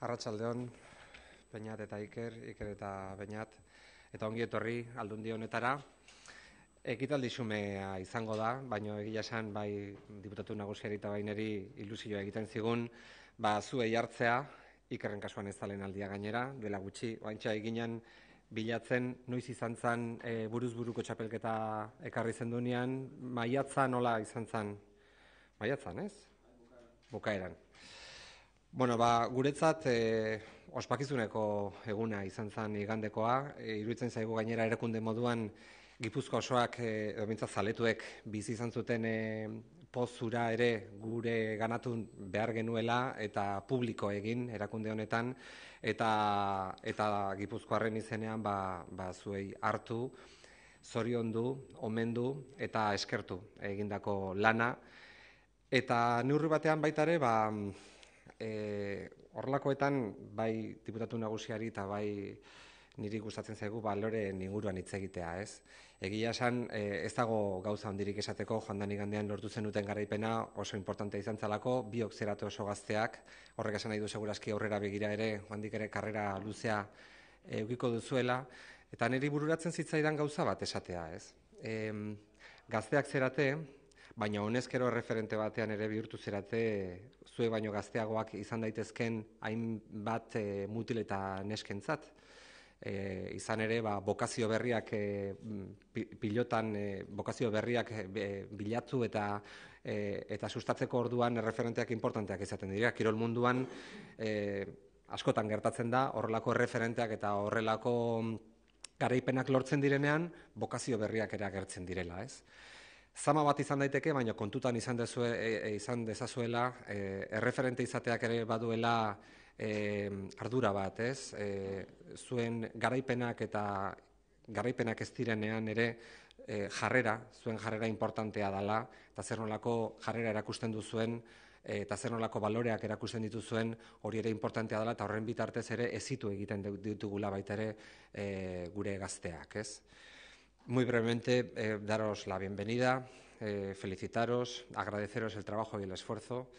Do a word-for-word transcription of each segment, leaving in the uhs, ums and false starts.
Arratsaldeon, Beñat eta Iker, Iker eta Beñat, eta ongi etorri aldundi honetara. Ekitaldi xumea izango da, baina egia esan bai diputatu nagusiari eta baineri ilusioa egiten zigun, ba zuei hartzea, Ikerren kasuan ez dalen aldia gainera, dela gutxi, oaintxa eginan bilatzen noiz izan zen e, buruz buruko txapelketa ekarri zendunean, maiatza nola izan zen? Maiatzan, ez? Bukaeran. Bueno, ba, guretzat e, ospakizuneko eguna izan zen igandekoa, e, iruditzen zaigu gainera erakunde moduan Gipuzkoa osoak, edo bintzat zaletuek bizi izan zuten e, pozura ere gure ganatu behar genuela eta publiko egin erakunde honetan, eta, eta Gipuzkoarren izenean ba, ba, zuei hartu, zoriondu, omendu eta eskertu egindako lana. Eta neurri batean baita ere, ba, e, horrelakoetan bai diputatu nagusiari eta bai niri gustatzen zaigu baloreen inguruan hitz egitea, ez? Egia esan, e, ez dago gauza handirik esateko, joan den igandean lortu zenuten garaipena oso importantea izan zalako, biok zeratu oso gazteak, horrek esan nahi du segurazki aurrera begira ere, joandik ere karrera luzea edukiko duzuela, eta niri bururatzen zitzaidan gauza bat esatea, ez? E, gazteak zerate, baina honezkero referente batean ere bihurtu zerate, zue baino gazteagoak izan daitezken hainbat e, mutil eta neskentzat. E, izan ere, ba, bokazio berriak e, pilotan, e, bokazio berriak e, bilatu eta e, eta sustatzeko orduan referenteak importanteak izaten dira. Kirol munduan e, askotan gertatzen da, horrelako referenteak eta horrelako garaipenak lortzen direnean, bokazio berriak ere agertzen direla, ez? Zama bat izan daiteke, baina kontutan izan, dezue, e, izan dezazuela, e, erreferente izateak ere baduela e, ardura bat, ez? E, zuen garaipenak eta garaipenak ez direnean ere e, jarrera, zuen jarrera importantea dela, eta zer nolako jarrera erakusten duzuen, e, eta zer nolako baloreak erakusten dituzuen, hori ere importantea dela, eta horren bitartez ere ezitu egiten ditugula baita ere e, gure gazteak, ez? Muy brevemente, eh, daros la bienvenida, eh, felicitaros, agradeceros el trabajo y el esfuerzo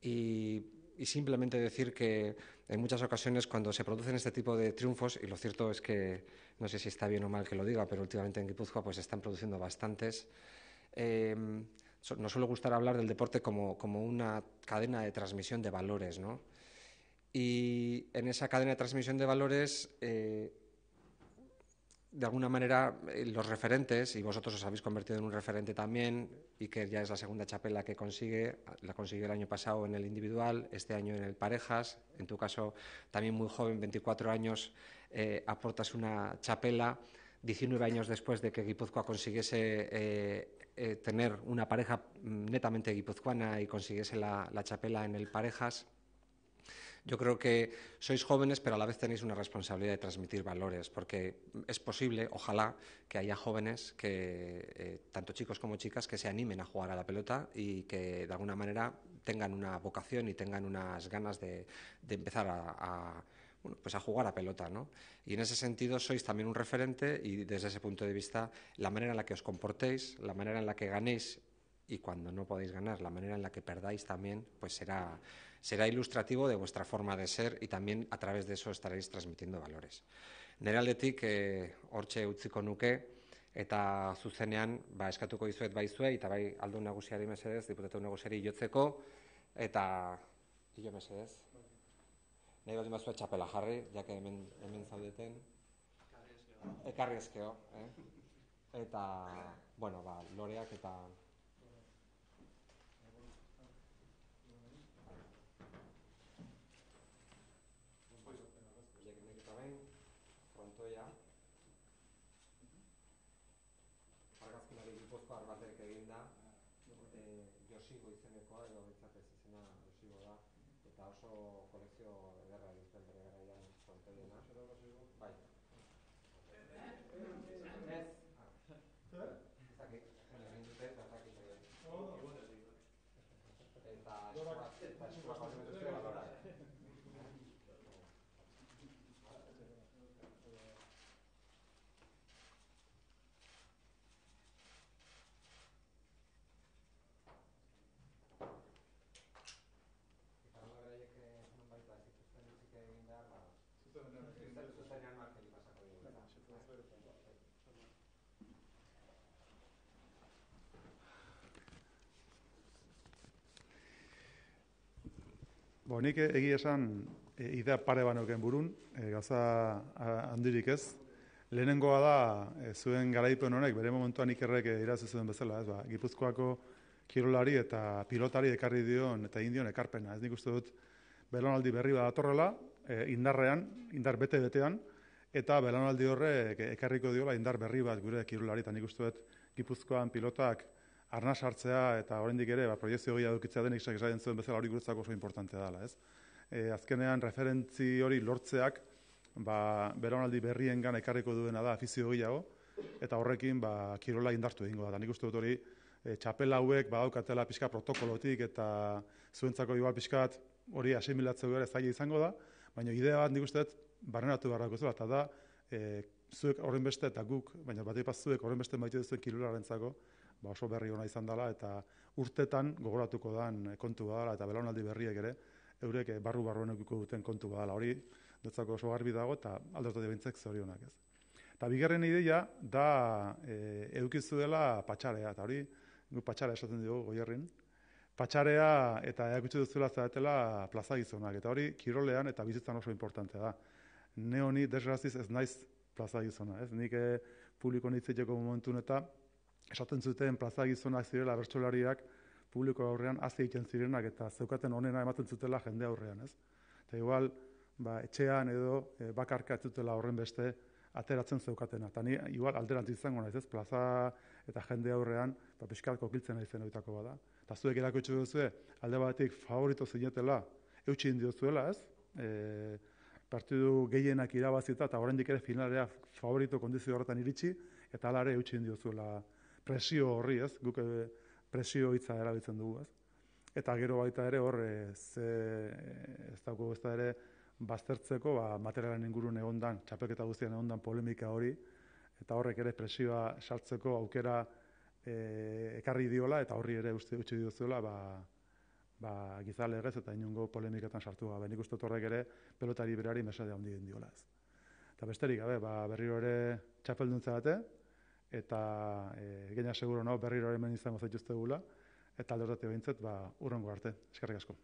y, y simplemente decir que en muchas ocasiones cuando se producen este tipo de triunfos, y lo cierto es que, no sé si está bien o mal que lo diga, pero últimamente en Guipúzcoa pues se están produciendo bastantes, eh, nos suele gustar hablar del deporte como, como una cadena de transmisión de valores, ¿no? Y en esa cadena de transmisión de valores, eh, de alguna manera, los referentes, y vosotros os habéis convertido en un referente también, y que ya es la segunda chapela que consigue, la consiguió el año pasado en el individual, este año en el parejas, en tu caso también muy joven, veinticuatro años, eh, aportas una chapela, diecinueve años después de que Guipúzcoa consiguiese eh, eh, tener una pareja netamente guipuzcoana y consiguiese la, la chapela en el parejas. Yo creo que sois jóvenes, pero a la vez tenéis una responsabilidad de transmitir valores, porque es posible, ojalá, que haya jóvenes, que eh, tanto chicos como chicas, que se animen a jugar a la pelota y que de alguna manera tengan una vocación y tengan unas ganas de, de empezar a, a, bueno, pues a jugar a pelota, ¿no? Y en ese sentido sois también un referente y desde ese punto de vista la manera en la que os comportéis, la manera en la que ganéis y cuando no podéis ganar, la manera en la que perdáis también, pues será... será ilustrativo de vuestra forma de ser y también a través de eso estaréis transmitiendo valores. Nere aldetik eh, hortxe utziko nuke eta zuzenean ba, eskatuko dizuet bai zuei eta bai aldun nagusiari mesedez, diputatu nagusiari jotzeko eta hilo mesedez. Nahi bat imazue txapela jarri, jake hemen, hemen zaudeten. Ekarri ezkeo. Eh? Eta, bueno, ba, loreak eta... frontoia argazkinari Gipuzkoar batek egin da, e, Josigo izenekoa, edo betzatez izena Josigo da, eta oso kolekzio ederra egin zuen bere garaian frontoiena. Bai. Ez? Ezakit, egin dute eta ezakit egin. Eta eskuak hori metuzio balorak. Bo, nik egia esan e, idea pare baneuken burun, e, gauza handirik ez. Lehenengoa da, e, zuen garaipen honek, bere momentuan ikerrek irazi zuen bezala, ez ba, Gipuzkoako kirolari eta pilotari ekarri dion eta egin dion ekarpena. Ez nik uste dut, belaunaldi berri bat datorrela, e, indarrean, indar bete-betean, eta belaunaldi horrek ekarriko diola indar berri bat gure kirolari, eta nik uste dut Gipuzkoan pilotak arna sartzea eta oraindik ere ba, proiekzio gehiago edukitzea denik esaten zuen bezala hori guretzako oso importantea dela, ez? E, azkenean referentzi hori lortzeak ba, belaunaldi berriengan ekarriko duena da afizio gehiago, eta horrekin ba, kirola indartu egingo da. Nik uste dut hori e, txapel hauek badaukatela pixka protokolotik eta zuentzako igual pixkat hori asimilatzea gara zaila izango da, baina idea bat nik uste dut barneratu beharrako zela, eta da e, zuek horren beste eta guk, baina bat ipaz zuek horren beste maite duzuen kirolarentzako ba oso berri ona izan dela eta urtetan gogoratuko dan kontu badala eta belaunaldi berriek ere eurek barru barruen edukiko duten kontu badala. Hori dutzako oso garbi dago eta alderdi bintzek zorionak, ez. Eta bigarren ideia da e, edukizu dela patxarea, eta hori gu patxarea esaten dugu Goierrin. Patxarea eta erakutsi duzuela zaretela plaza gizonak, eta hori kirolean eta bizitzan oso importantea da. Ne honi desgraziz ez naiz plaza gizona, ez. Nik e, publiko nitziteko momentun eta esaten zuten plaza gizonak zirela bertsolariak publiko aurrean hazi egiten zirenak eta zeukaten onena ematen zutela jende aurrean, ez? Eta igual, ba, etxean edo e, bakarka ez zutela horren beste ateratzen zeukatena. Eta ni igual alderantz izango naiz, ez? Plaza eta jende aurrean, ba, pixkat kokiltzen naizen horietako bada. Eta zuek erakutsi duzue, alde batetik favorito zinetela, eutsi indiozuela, ez? E, partidu gehienak irabazita eta oraindik ere finalera favorito kondizio horretan iritsi, eta hala ere eutsi indiozuela presio horri, ez? Guk presio hitza erabiltzen dugu, ez? Eta gero baita ere hor ze ez dago ez da ere baztertzeko, ba materialen ingurun egondan, txapelketa guztian egondan polemika hori eta horrek ere presioa sartzeko aukera e, ekarri diola eta horri ere uste utzi diozuela, ba ba gizalegez eta inongo polemiketan sartu gabe. Nik uste horrek ere pelotari berari mesede handi egin diola, ez. Eta besterik gabe, ba berriro ere txapelduntza bate eta e, gaina seguro no berriro hemen izango zaituztegula eta alderdate behintzat ba urrengo arte. Eskerrik asko.